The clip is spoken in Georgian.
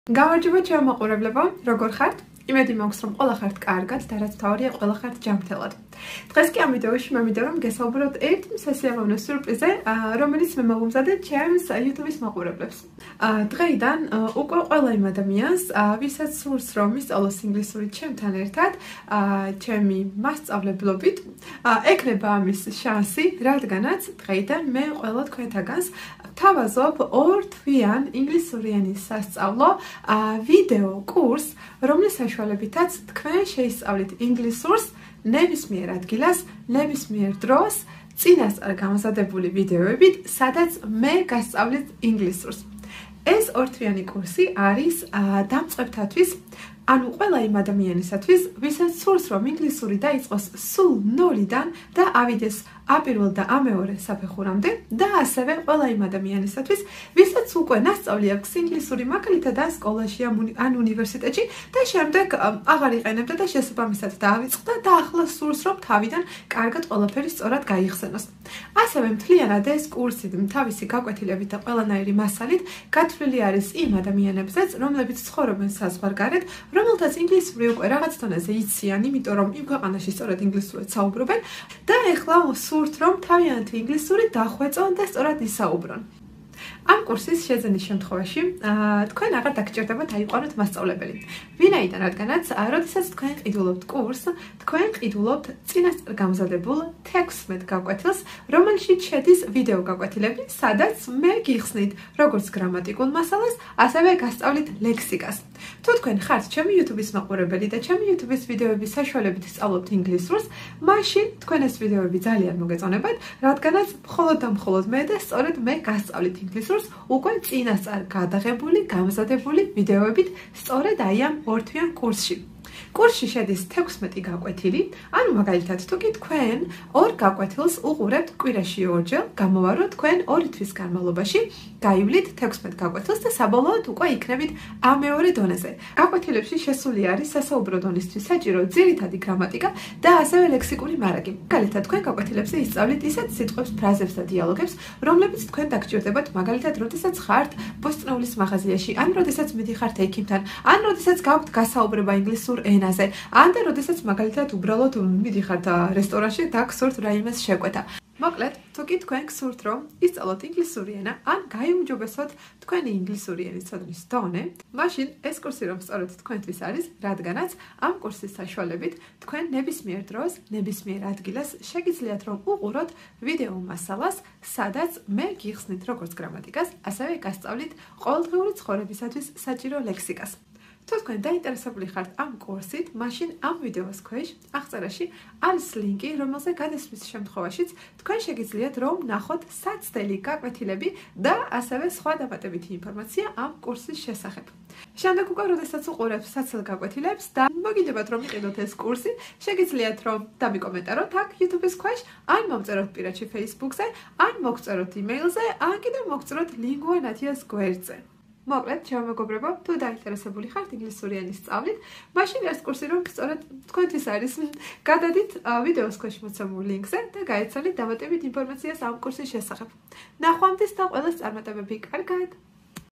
გამარჯობა ჩემო მაყურებლებო, როგორ ხართ? იმედი მაქვს რომ ყველა ხართ კარგად და რაც თავარია ყველა ხართ ჯანმრთელად. დღეს კი ამ ვიდეოში მე მინდა რომ გესაუბროთ ერთ სასიამოვნო სიურპრიზზე, რომელიც მე მოვუმზადე ჩემს YouTube-ის მაყურებლებს. დღეიდან უკვე ყველა იმ ადამიანს, ვისაც სურს რომ ისწავლოს ინგლისური ჩემთან ერთად, ჩემი მასწავლებლობით, ეკნება ამის შანსი, რადგანაც დღეიდან მე ყველა თქვენთაგანს თავაზობ ორ თვიან ინგლისურენის სასწავლო ვიდეო კურსს, რომლის საშუალებითაც თქვენ შეისწავლით ინგლისურს ნებისმიერ ადგილას, ნებისმიერ დროს, წინასწარ გამოსადებული ვიდეოებით, სადაც მე გასწავლით ინგლისურს. ეს ორთვიანი კურსი არის დამწყებთათვის, ანუ ყველა იმ ადამიანისათვის, ვისაც სურს რომ ინგლისური დაიწყოს სულ ნოლიდან და ავიდეს აპირველ და ამეორე საფეხურამდე და ასევე ყველა იმ ადამიანისათვის, ვისაც უკვე ნასწავლი აქვს ინგლისური მაგალითად ან სკოლაში ან უნივერსიტეტში და შემდეგ აღარ იყენებდა და შესაბამისად დაავიწყდა და ახლა სურს რომ თავიდან კარგად ყველაფერი სწორად გაიხსენოს. ასევე მთლიანად ეს კურსი თავისი გაკვეთილებით და ყველანაირი მასალით გათვლილი არის იმ ადამიანებზეც, რომლებიც ცხოვრობენ საზღვარგარეთ, რომელთაც ინგლისური უკვე რაღაც დონეზე იციან, იმიტომ რომ იმ ქვეყანაში სწორად ინგლისურად საუბრობენ და ეხლა სურთ რომ თავიანთი ინგლისური დახვეწონ და სწორად ისაუბრონ. ამ კურსის შეძენის შემთხვევაში თქვენ აღარ დაგჭირდებათ აიყვანოთ მასწავლებელი. ვინაიდან, რადგანაც, როდესაც თქვენ ყიდულობთ კურსს, თქვენ ყიდულობთ წინასწარ გამზადებულ 16 გაკვეთილს, რომელშიც შედის ვიდეო გაკვეთილები, სადაც მე გიხსნით როგორც გრამატიკულ მასალას, ასევე გასწავლით ლექსიკას. თუ თქვენ ხართ ჩემი YouTube-ის მაყურებელი და ჩემი YouTube-ის ვიდეოების საშუალებით სწავლობთ ინგლისურს, მაშინ თქვენ ეს ვიდეოები ძალიან მოგეწონებათ, რადგანაც მხოლოდ და მხოლოდ მე და სწორედ მე გასწავლით ინგლისურს უკვე წინასწარ გადაღებული, გამზადებული ვიდეოებით სწორედ აი ამ ორთვიან კურსში. კურსში შედის 16 გაკვეთილი, ანუ მაგალითად თუ კი თქვენ ორ გაკვეთილს უყურებთ კვირაში ორჯერ, გამოვაროთ თქვენ 2 თვის განმავლობაში გაივლით 16 გაკვეთილს და საბოლოოდ უკვე იქნებით ამეორე დონეზე. გაკვეთილებში შესული არის სასაუბრო დონისთვის საჭირო ძირითადი გრამატიკა და ასევე ლექსიკური მარაგი. მაგალითად თქვენ გაკვეთილებზე ისწავლით ისეთ სიტყვებს, ფრაზებს და დიალოგებს, რომლებიც თქვენ დაგჭირდებათ, მაგალითად, როდესაც ხართ ბოსტნეულის მაღაზიაში, ან როდესაც მიდიხართ ექიმთან, ან როდესაც გაქვთ გასაუბრება ინგლისურ ენაზე, ან და როდესაც მაგალითად უბრალოდ მიდიხართ რესტორანში და გსურთ რაიმეს შეკვეთა. მოკლედ, თუ კი თქვენ გსურთ რომ ისწავლოთ ინგლისური ენა, ან გაიუმჯობესოთ თქვენი ინგლისური ენის ცოდნის დონე, მაშინ ეს კურსი რომ სწორედ თქვენთვის არის, რადგანაც ამ კურსის საშუალებით თქვენ ნებისმიერ დროს, ნებისმიერ ადგილას შეგიძლიათ რომ უყუროთ ვიდეო მასალას, სადაც მე გიხსნით როგორც გრამატიკას, ასევე გასწავლით ყოველდღიური ცხოვრებისათვის საჭირო ლექსიკას. თუ თქვენ დაინტერესებული ხართ ამ კურსით, მაშინ ამ ვიდეოს ქვეშ აღწერაში არის ლინკი, რომელზე გადასვლის შემთხვევაშიც თქვენ შეგიძლიათ რომ ნახოთ საცდელი გაკვეთილები და ასევე სხვა დამატებითი ინფორმაცია ამ კურსის შესახებ. შემდეგ უკვე როდესაც უყურებთ საცდელ გაკვეთილებს და მოგინდებათ რომ იყიდოთ ეს კურსი, შეგიძლიათ რომ დამიკომენტაროთ აქ YouTube-ის ქვეშ, ან მომწეროთ პირადში Facebook-ზე, ან მოგწეროთ email-ზე, ან კიდევ მოგწეროთ Lingua Natia's გვერდზე. მოკლედ, ჩემო მეგობრებო, თუ დაინტერესებული ხართ ინგლისური ენის სწავლით, მაშინ ეს კურსი რომ სწორედ თქვენთვის არის, გადადით ვიდეოს ქვეშ მოცემულ ლინკზე და გაეცალით დამატებით ინფორმაციას ამ კურსის შესახებ. ნახვამდის და ყველას წარმატებები, კარგად!